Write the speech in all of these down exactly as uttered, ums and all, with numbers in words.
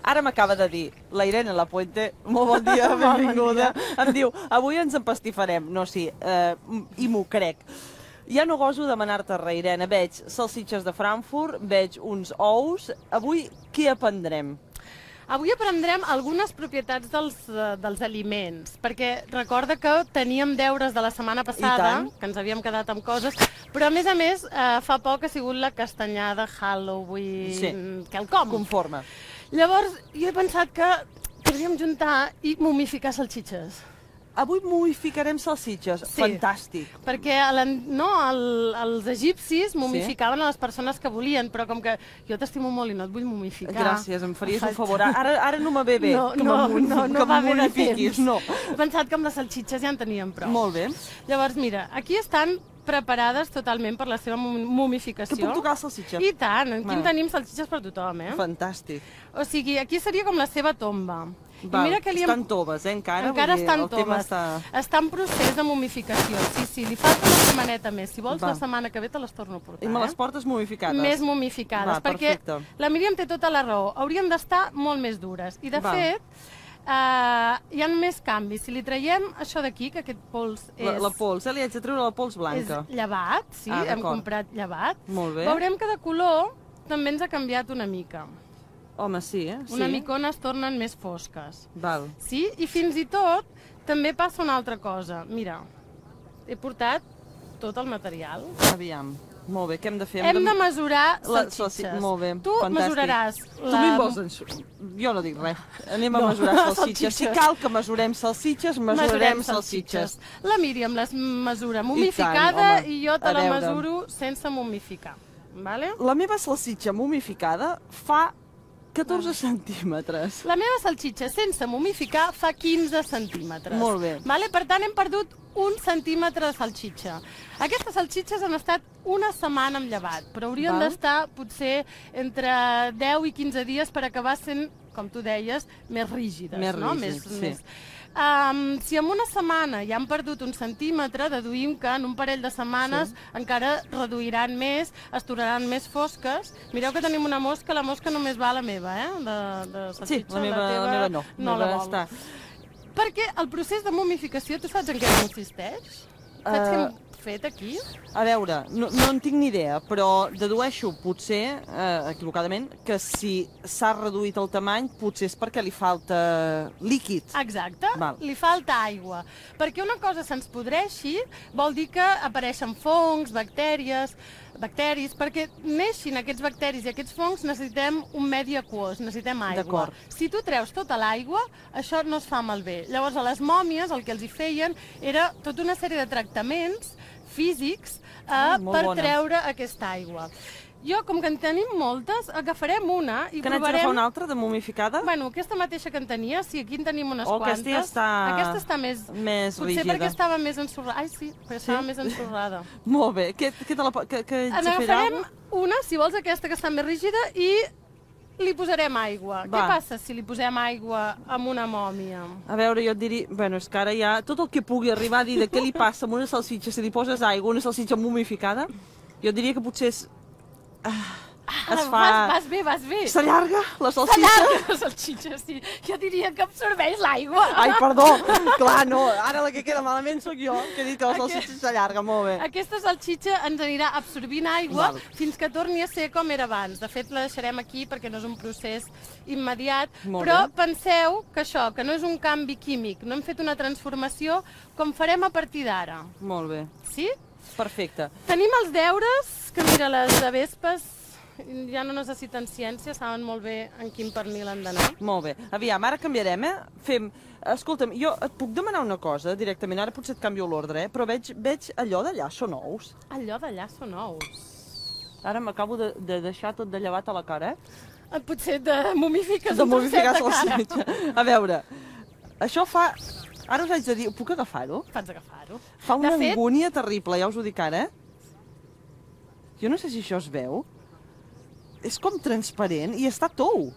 Ara m'acaba de dir la Irene Lapuente, molt bon dia, benvinguda. Em diu, avui ens empastifarem. No, sí, eh, i m'ho crec. Ja no goso demanar-te res, Irene. Veig salsitxes de Frankfurt, veig uns ous. Avui què aprendrem? Avui aprendrem algunes propietats dels, dels aliments, perquè recorda que teníem deures de la setmana passada, que ens havíem quedat amb coses, però a més a més eh, fa poc ha sigut la castanyada Halloween, sí. quelcom. Conforme. Llavors, jo he pensat que podríem juntar i momificar salsitxes. Avui momificarem salsitxes. Sí. Fantàstic. Perquè no, el, els egipcis momificaven sí? a les persones que volien, però com que jo t'estimo molt i no et vull momificar... Gràcies, em faries un favor. Ara, ara no me ve bé no, que no, me, no, no que va bé de modifiquis. No. He pensat que amb les salsitxes ja en teníem prou. Molt bé. Llavors, mira, aquí estan preparades totalment per la seva momificació. Que puc tocar la salsitxa? I tant, aquí en tenim salsitxes per tothom, eh? Fantàstic. O sigui, aquí seria com la seva tomba. Val, mira que li estan toves, eh, encara? Encara dir, estan toves. Està... està en procés de momificació. Sí, sí, li falta una setmaneta més. Si vols, Va. la setmana que ve te les torno a portar. I me les portes momificades? Més momificades, Va, perquè perfecte. La Míriam té tota la raó. Haurien d'estar molt més dures. I, de Va. fet, uh, hi ha més canvis. Si li traiem això d'aquí, que aquest pols és... La, la pols, eh? Li haig de treure la pols blanca. És llevat, sí, ah, hem comprat llevat. Molt bé. Veurem que de color també ens ha canviat una mica. Home, sí, eh? Una sí. micona es tornen més fosques. Val. Sí? I fins i tot també passa una altra cosa. Mira, he portat tot el material. Aviam. Molt bé, què hem de fer? Hem, hem de mesurar salsitxes. La... Molt bé, tu fantàstic. mesuraràs la... Tu m'hi vols enxugar? Jo no dic res. Anem a no. mesurar salsitxes. Si cal que mesurem salsitxes, mesurarem mesurem salsitxes. salsitxes. La Míriam les mesura momificada i, tant, i jo te la mesuro sense momificar. Vale? La meva salsitxa momificada fa catorze centímetres. La meva salsitxa sense momificar fa quinze centímetres. Molt bé. Vale? Per tant, hem perdut un centímetre de salsitxa. Aquestes salsitxes han estat una setmana amb llevat, però haurien d'estar potser entre deu i quinze dies per acabar sent, com tu deies, més rígides. Més no? rígides, més, sí. Més... Um, si en una setmana ja han perdut un centímetre, deduïm que en un parell de setmanes sí. encara reduiran més, es tornaran més fosques. Mireu que tenim una mosca, la mosca només va a la meva, eh? De, de sí, la meva, la, teva la meva no. No la la vol. Està. Perquè el procés de momificació, tu saps en què consisteix? Saps uh... què hem fet aquí? A veure, no, no en tinc ni idea, però dedueixo, potser, eh, equivocadament, que si s'ha reduït el tamany, potser és perquè li falta líquid. Exacte, Val. Li falta aigua. Perquè una cosa se'ns podreixi vol dir que apareixen fongs, bactèries, bacteris, perquè neixin aquests bacteris i aquests fongs necessitem un medi aquós, necessitem aigua. Si tu treus tota l'aigua, això no es fa malbé. Llavors, a les mòmies el que els hi feien era tota una sèrie de tractaments físics eh, ah, per bona. treure aquesta aigua. Jo, com que en tenim moltes, agafarem una i que provarem... Que n'haig d'agafar una altra de momificada? Bueno, aquesta mateixa que en tenia, sí, aquí en tenim unes oh, quantes. Aquesta ja està... Aquesta està més... Més Potser rígida. perquè estava més ensorrada. Ai, sí, perquè estava sí? més ensorrada. Molt bé. Què, què te la... Que, que en agafarem una, si vols, aquesta que està més rígida, i li posarem aigua. Va. Què passa si li posem aigua amb una mòmia? A veure, jo et diria... Bueno, és que ara ja... Tot el que pugui arribar a dir de què li passa amb una salsitxa, si li poses aigua, una salsitxa momificada, jo diria que potser és... Ah, es fa... Vas, vas bé, vas bé. S'allarga la salsitxa? S'allarga la salsitxa, sí. Jo diria que absorbeix l'aigua. Ai, perdó. Clar, no. Ara la que queda malament sóc jo, que he dit que la salsitxa s'allarga. Molt bé. Aquesta salsitxa ens anirà absorbint aigua Val. fins que torni a ser com era abans. De fet, la deixarem aquí perquè no és un procés immediat. Molt però bé. Penseu que això, que no és un canvi químic, no hem fet una transformació com farem a partir d'ara. Molt bé. Sí? Perfecte. Tenim els deures, que mira, les avespes ja no necessiten ciència, saben molt bé en quin pernil han d'anar. Molt bé. Aviam, ara canviarem, eh? Fem... Escolta'm, jo et puc demanar una cosa directament, ara potser et canvio l'ordre, eh? Però veig, veig allò d'allà són ous. Allò d'allà són ous. Ara m'acabo de, de deixar tot de llevat a la cara, eh? Potser de momifiques de momificar salsitxa. A veure, això fa... Ara us haig de dir, puc agafar-ho? Pots agafar-ho. Fa una angúnia terrible, ja us ho dic ara, eh? Jo no sé si això es veu. És com transparent i està tou.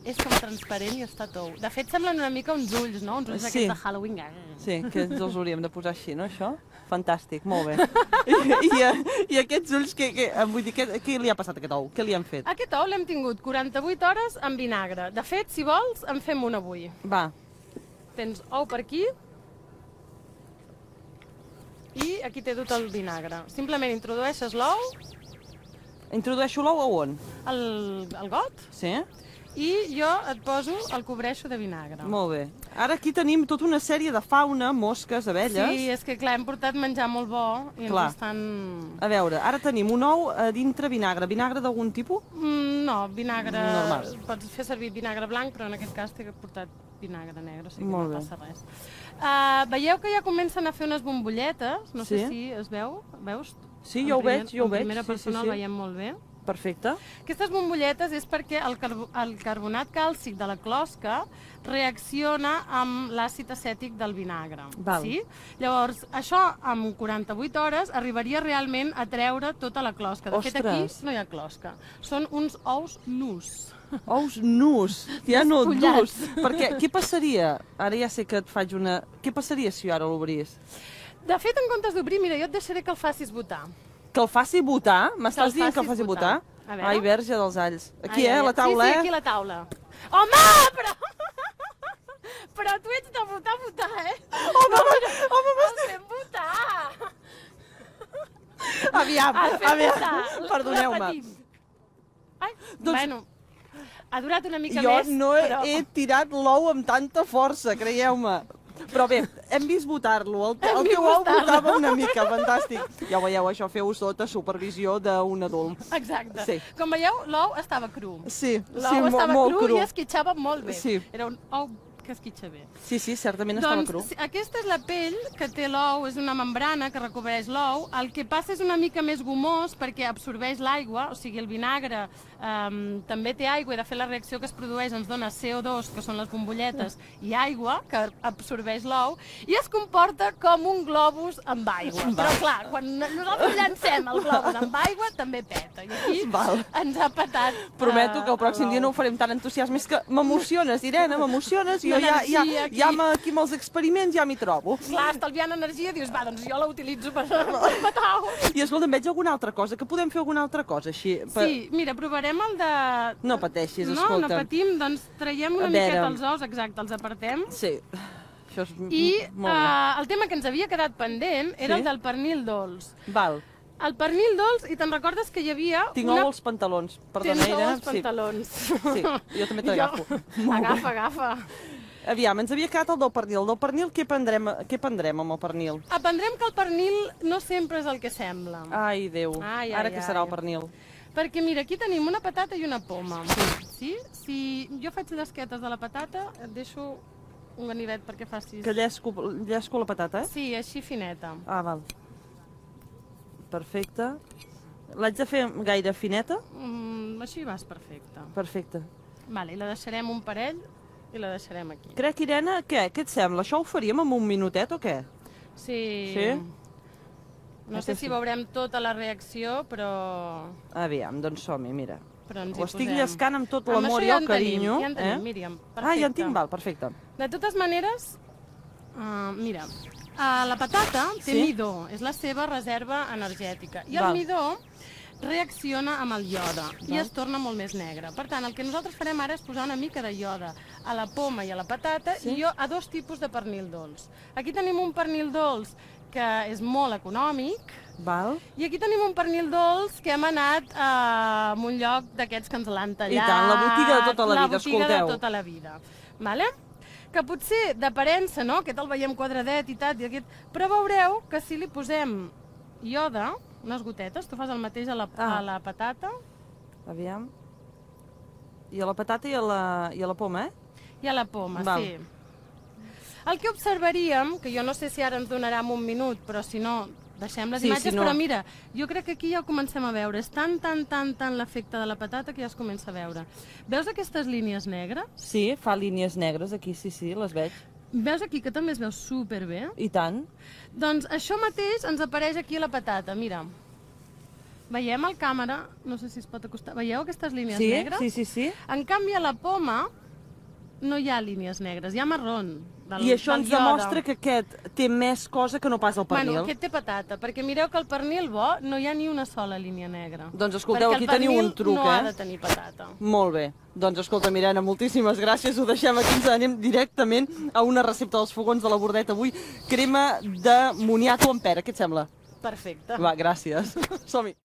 és com transparent i està tou. De fet, semblen una mica uns ulls, no? Uns ulls Sí. aquests de Halloween. Sí, que ens els hauríem de posar així, no, això? Fantàstic, molt bé. I, i, i aquests ulls, que, que, vull dir, què, què li ha passat a aquest ou? Què li han fet? Aquest ou l'hem tingut quaranta-vuit hores en vinagre. De fet, si vols, en fem un avui. Va, Tens ou per aquí i aquí t'he dut el vinagre. Simplement introdueixes l'ou, introdueixo l'ou a on? el, el got, Sí? i jo et poso, el cobreixo de vinagre. Molt bé. Ara aquí tenim tota una sèrie de fauna, mosques, abelles. Sí, és que clar, hem portat menjar molt bo i Clar. ens estan... A veure, ara tenim un ou a dintre vinagre. Vinagre d'algun tipus? Mm, no, vinagre... Normal. Pots fer servir vinagre blanc, però en aquest cas t'he portat vinagre negre, o sigui que Molt no bé. passa res. Uh, veieu que ja comencen a fer unes bombolletes? No sé Sí. si es veu, veus? Sí, En jo ho primer- veig, jo ho veig. En primera Sí, sí, persona sí. el veiem molt bé. Perfecte. Aquestes bombolletes és perquè el, carbo el carbonat càlcic de la closca reacciona amb l'àcid acètic del vinagre. Val. Sí? Llavors, això en quaranta-vuit hores arribaria realment a treure tota la closca. De fet, aquí Ostres. no hi ha closca. Són uns ous nus. Ous nus, ja no Despullats. durs. Perquè què passaria? Ara ja sé que et faig una... Què passaria si jo ara l'obrís? De fet, en comptes d'obrir, mira, jo et deixaré que el facis votar. Que el faci votar? M'estàs el dient que el facis faci votar? votar. A veure. Ai, verge dels alls. Aquí, Ai, eh, ai, a la ai. taula, sí, sí, eh? aquí a la taula. Home, però... però tu ets de votar, votar, eh? Home, home, home, El fem votar. aviam, El fem aviam, votar. perdoneu-me. Repetim. Ai, Doncs- bueno, ha durat una mica Jo més, no he, però... he tirat l'ou amb tanta força, creieu-me. Però bé, hem vist votar-lo. El, Hem el vist teu ou votar-lo. votava una mica, fantàstic. Ja ho veieu, això feu sota supervisió d'un adult. Exacte. Sí. Com veieu, l'ou estava cru. Sí, L'ou sí, mo- estava molt cru, cru. i esquitxava molt bé. Sí. Era un ou que esquitxa bé. Sí, sí, certament estava Doncs cru. sí, aquesta és la pell que té l'ou, és una membrana que recobreix l'ou. El que passa és una mica més gomós perquè absorbeix l'aigua, o sigui, el vinagre um, també té aigua i de fet la reacció que es produeix ens dona C O dos, que són les bombolletes, i aigua, que absorbeix l'ou, i es comporta com un globus amb aigua. Però clar, quan nosaltres llancem el globus amb aigua, també peta. I aquí Val. ens ha petat. Prometo eh, que el pròxim dia no ho farem tan entusiasme. És que m'emociones, Irene, m'emociones. Jo ja, ja, L'energia aquí. ja amb- aquí amb els experiments ja m'hi trobo. Clar, estalviant energia, dius, va, doncs jo la utilitzo per, per matar ous. I escolta, veig alguna altra cosa, que podem fer alguna altra cosa així. per- Sí, mira, provarem el de... No pateixis, No, escolta. no patim, doncs traiem una A veure. miqueta els ous, exacte, els apartem. Sí, això és m- I molt bé. uh, el tema que ens havia quedat pendent era Sí? el del pernil dolç. Val, El pernil dolç, i te'n recordes que hi havia tinc una... ou als pantalons. Perdona, Tens ou Irene. als pantalons. Sí, jo també t'agafo. Jo- Agafa, agafa. Aviam, ens havia quedat el del pernil. El del pernil, què prendrem, què prendrem amb el pernil? Aprendrem que el pernil no sempre és el que sembla. Ai, Déu. Ai, ai, Ara què serà ai. el pernil? Perquè mira, aquí tenim una patata i una poma. Sí? Si jo faig llesquetes de la patata, et deixo un ganivet perquè facis... Que llesco, llesco la patata, eh? Sí, així fineta. Ah, val. Perfecte. L'haig de fer gaire fineta? Mm, així vas perfecte. Perfecte. Vale, i la deixarem un parell i la deixarem aquí. Crec, Irene, què? Què et sembla? Això ho faríem en un minutet o què? Sí. Sí? No És sé que si sí. veurem tota la reacció, però, Aviam, doncs som-hi, mira. però ens Ho hi estic posem. llescant amb tot Amb l'amor això i ja el en tenim, carinyo. Ja en tenim, eh? Míriam. Perfecte. Ah, ja en tinc, val, perfecte. De totes maneres, uh, mira, uh, la patata té Sí? midó, és la seva reserva energètica. I el Val. midó reacciona amb el iode i Val. es torna molt més negre. Per tant, el que nosaltres farem ara és posar una mica de iode a la poma i a la patata Sí? i jo a dos tipus de pernil dolç. Aquí tenim un pernil dolç que és molt econòmic Val? i aquí tenim un pernil dolç que hem anat eh, a un lloc d'aquests que ens l'han tallat. I tant, la botiga de tota la vida, La botiga escolteu. de tota la vida. Vale? Que potser d'aparença, no?, aquest el veiem quadradet i tal, i aquest... però veureu que si li posem iode, unes gotetes, tu fas el mateix a la, Ah. a la patata Aviam. I a la patata i a la, i a la poma, eh? i a la poma, Val. sí. El que observaríem, que jo no sé si ara ens donarà en un minut, però si no, deixem les Sí, imatges, si no- però mira, jo crec que aquí ja ho comencem a veure. És tan, tan, tan, tan l'efecte de la patata que ja es comença a veure. Veus aquestes línies negres? Sí, fa línies negres aquí, sí, sí, les veig. Veus aquí que també es veu superbé? I tant. Doncs això mateix ens apareix aquí a la patata, mira. veiem al càmera, no sé si es pot acostar, veieu aquestes línies Sí, negres? sí, sí, sí. En canvi, a la poma no hi ha línies negres, hi ha marrón. Del, I això del ens iode. demostra que aquest té més cosa que no pas el pernil. Bueno, aquest té patata, perquè mireu que el pernil bo no hi ha ni una sola línia negra. Doncs escolteu, aquí teniu un truc, eh? no eh? ha de tenir patata. Molt bé. Doncs escolta, Irene, moltíssimes gràcies. Ho deixem aquí, ens anem directament a una recepta dels fogons de la Bordeta avui. Crema de moniato amb pera, què et sembla? Perfecte. Va, gràcies. Som-hi.